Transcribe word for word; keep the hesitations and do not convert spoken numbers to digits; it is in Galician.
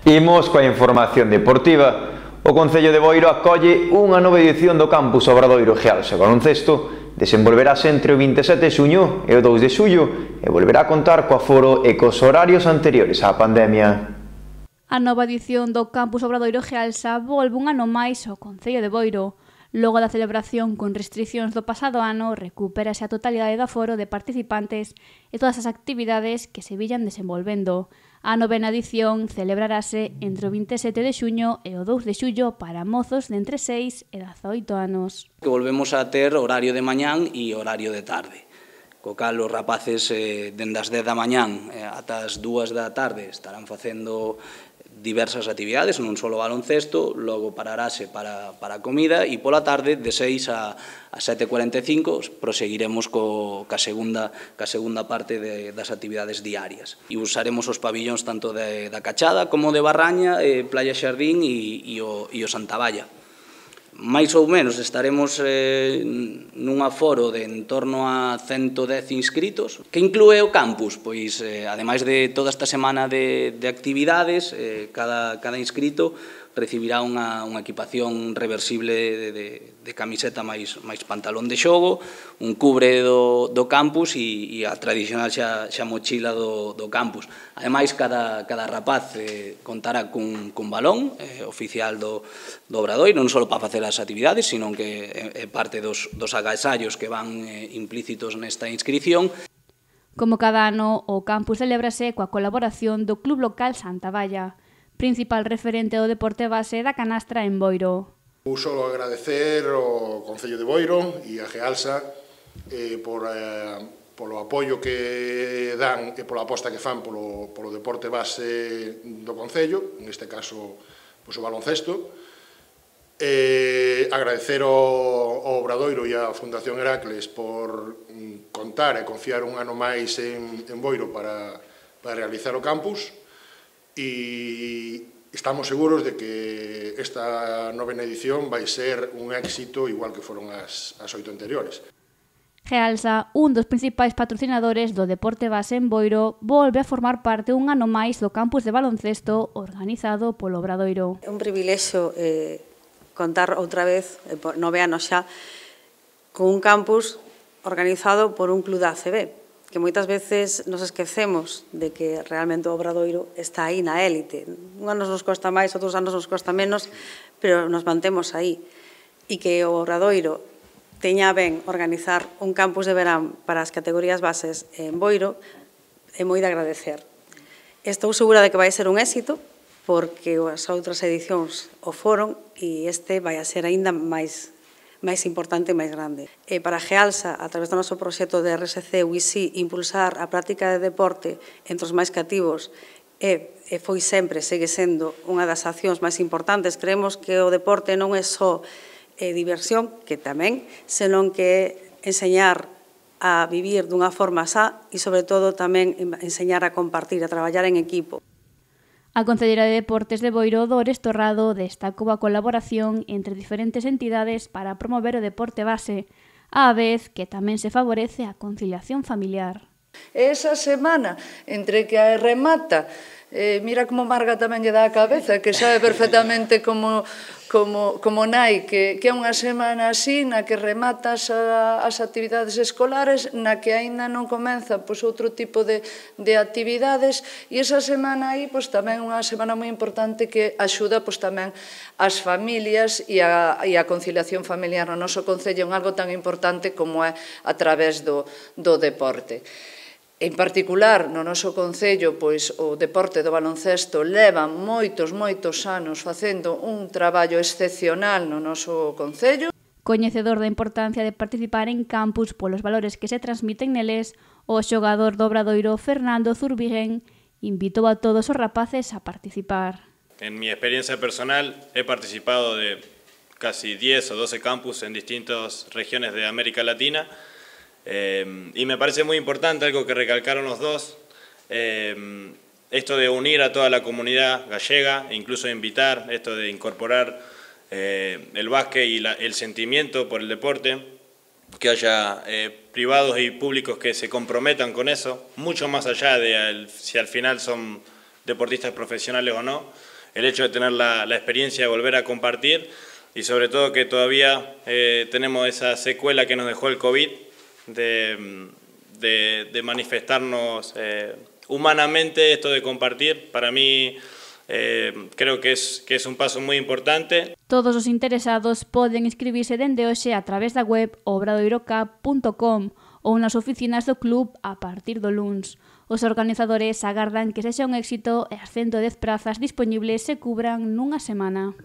Imos coa información deportiva. O Concello de Boiro acolle unha nova edición do Campus Obradoiro Gealsa Baloncesto. Desenvolverase entre o vinte e sete de xuño e o dous de xullo e volverá a contar co aforo e cos horarios anteriores á pandemia. A nova edición do Campus Obradoiro Gealsa volve un ano máis ao Concello de Boiro. Logo da celebración con restricións do pasado ano, recupérase a totalidade do aforo de participantes e todas as actividades que se villan desenvolvendo. A novena edición celebrarase entre o vinte e sete de xuño e o dous de xullo para mozos de entre seis e dezaoito anos. Que volvemos a ter horario de mañán e horario de tarde. Co cal os rapaces eh, dende as dez da mañán eh, ata as dúas da tarde estarán facendo diversas actividades, non só baloncesto, logo pararase para, para a comida e pola tarde de seis a, a sete e cuarenta e cinco proseguiremos co, ca, segunda, ca segunda parte de, das actividades diarias. E usaremos os pabillóns tanto de, da Cachada como de Barraña, eh, Playa Xardín e, e, o, e o Santa Valla. Mais ou menos estaremos eh, nun aforo de en torno a ciento dez inscritos. Que inclúe o campus? Pois, eh, ademais de toda esta semana de, de actividades, eh, cada, cada inscrito recibirá unha, unha equipación reversible de, de, de camiseta máis, máis pantalón de xogo, un cubre do, do campus e, e a tradicional xa, xa mochila do, do campus. Ademais, cada, cada rapaz eh, contará cun, cun balón eh, oficial do, do Obradoiro, non só para facer as actividades, sino que é, é parte dos, dos agasallos que van eh, implícitos nesta inscripción. Como cada ano, o campus celébrase coa colaboración do Club Local Santa Valla, principal referente do deporte base da canastra en Boiro. Vou só agradecer ao Concello de Boiro e a Gealsa eh, por, eh, polo apoio que dan e pola aposta que fan polo, polo deporte base do Concello, neste caso pois, o baloncesto. Eh, agradecer ao, ao Obradoiro e á Fundación Heracles por mm, contar e confiar un ano máis en, en Boiro para, para realizar o campus. E estamos seguros de que esta novena edición vai ser un éxito igual que foron as, as oito anteriores. Gealsa, un dos principais patrocinadores do deporte base en Boiro, volve a formar parte un ano máis do campus de baloncesto organizado polo Obradoiro. É un privilexio eh, contar outra vez, eh, nove anos xa, con un campus organizado por un club da A C B, que moitas veces nos esquecemos de que realmente o Obradoiro está aí na élite. Un anos nos costa máis, outros anos nos costa menos, pero nos mantemos aí. E que o Obradoiro teña ben organizar un campus de verán para as categorías bases en Boiro é moi de agradecer. Estou segura de que vai ser un éxito, porque as outras edicións o foron e este vai a ser aínda máis máis importante e máis grande. E para Gealsa, a través do noso proxecto de R S C U I S I, impulsar a práctica de deporte entre os máis cativos e, e foi sempre, segue sendo, unha das accións máis importantes. Creemos que o deporte non é só eh, diversión, que tamén, senón que é enseñar a vivir dunha forma sá e, sobre todo, tamén enseñar a compartir, a traballar en equipo. A Concellera de Deportes de Boiro, Dores Torrado, destacou a colaboración entre diferentes entidades para promover o deporte base, á vez que tamén se favorece a conciliación familiar. Esa semana, entre que a remata, eh, mira como Marga tamén lle dá a cabeza, que sabe perfectamente como, como, como nai, que, que é unha semana así, na que rematas a, as actividades escolares, na que aínda non comeza pois, outro tipo de, de actividades, e esa semana aí pois, tamén unha semana moi importante que axuda pois, tamén as familias e a, e a conciliación familiar no noso concello en algo tan importante como é a través do, do deporte. En particular, no noso concello, pois o deporte do baloncesto leva moitos, moitos anos facendo un traballo excepcional no noso concello. Coñecedor da importancia de participar en campus polos valores que se transmiten neles, o xogador do Obradoiro Fernando Zurbigen invitou a todos os rapaces a participar. En mi experiencia personal he participado de casi diez o doce campus en distintas regiones de América Latina. Eh, y me parece muy importante algo que recalcaron los dos, eh, esto de unir a toda la comunidad gallega, e incluso invitar, esto de incorporar eh, el básquet y la, el sentimiento por el deporte, que haya eh, privados y públicos que se comprometan con eso, mucho más allá de el, si al final son deportistas profesionales o no. el hecho de tener la, la experiencia de volver a compartir y sobre todo que todavía eh, tenemos esa secuela que nos dejó el COVID de, de, de manifestarnos eh, humanamente, esto de compartir. Para mí eh, creo que es, que es un paso muy importante. Todos os interesados poden inscribirse dende hoxe a través da web obradoirocap punto com ou nas oficinas do club a partir do luns. Os organizadores agardan que sexa un éxito e as ciento dez prazas dispoñibles se cubran nunha semana.